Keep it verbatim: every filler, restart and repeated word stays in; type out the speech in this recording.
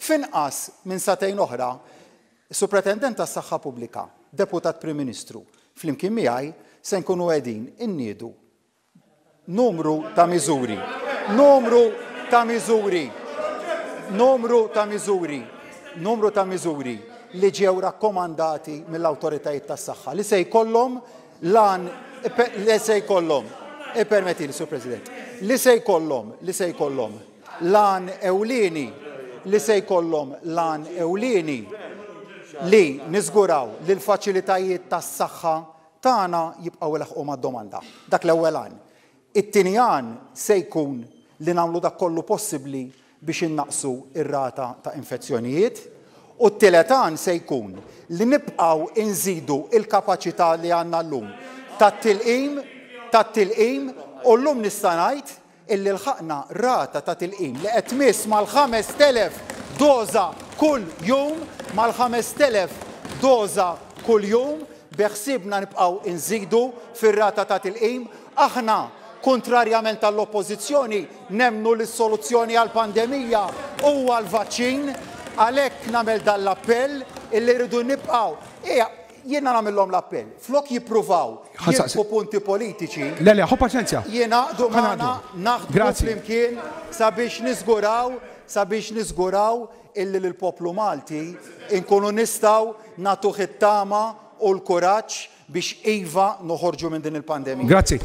F'inqas minn sagħtejn oħra, Supretendent tas-Saħħa Pubblika, Deputat Prim Ministru, flimkien miegħi se nkunu qegħdin inniedu numru ta' miżuri. Numru ta' miżuri. Numru ta' miżuri. Numru ta' miżuri li ġew rakkomandati mill-awtoritajiet tas-saħħa li se jkollhom lan li se jkollhom, ippermettili, Sur President, li se jkollhom li se jkollhom lan ewlieni li se jkollhom lan ewlieni li niżguraw li l-faċilitajiet tas-saħħa tagħna jibqgħu ilaħħqu mad-domanda. Dak l-ewwel għan. It-tieni għan se jkun li nagħmlu dak kollu possibbli biex innaqsu ir-rata ta' infezzjonijiet, u t-tielet għan se jkun li nibqgħu inżidu il-kapaċità li għandna llum tat-tilqim tat-tilqim u llum nista' ngħid illi lħaqna rata ta' tilqim li qed tmiss mal-ħamest elef doża kull jum, mal-ħamest elef doża kull jum, beħsiebna nibqgħu inżidu fir-rata ta' tilqim. Aħna, kontrarjament għall-oppożizzjoni, nemmnu li s-soluzzjoni għall-pandemija huwa l-vaċċin, għalhekk nagħmel dan l-appell illi rridu nibqgħu. Ejja, jiena nagħmilhom l-appell. Flok jippruvaw jirbħu punti politiċi. Le, le, ħu paċenzja. Jingħaqdu magħna, naħdmu flimkien sabiex niżguraw, sabiex niżguraw illi lill-poplu Malti nkunu nistgħu nagħtuh it-tama u l-kuraġġ biex iva noħorġu minn din il-pandemija. Grazzi.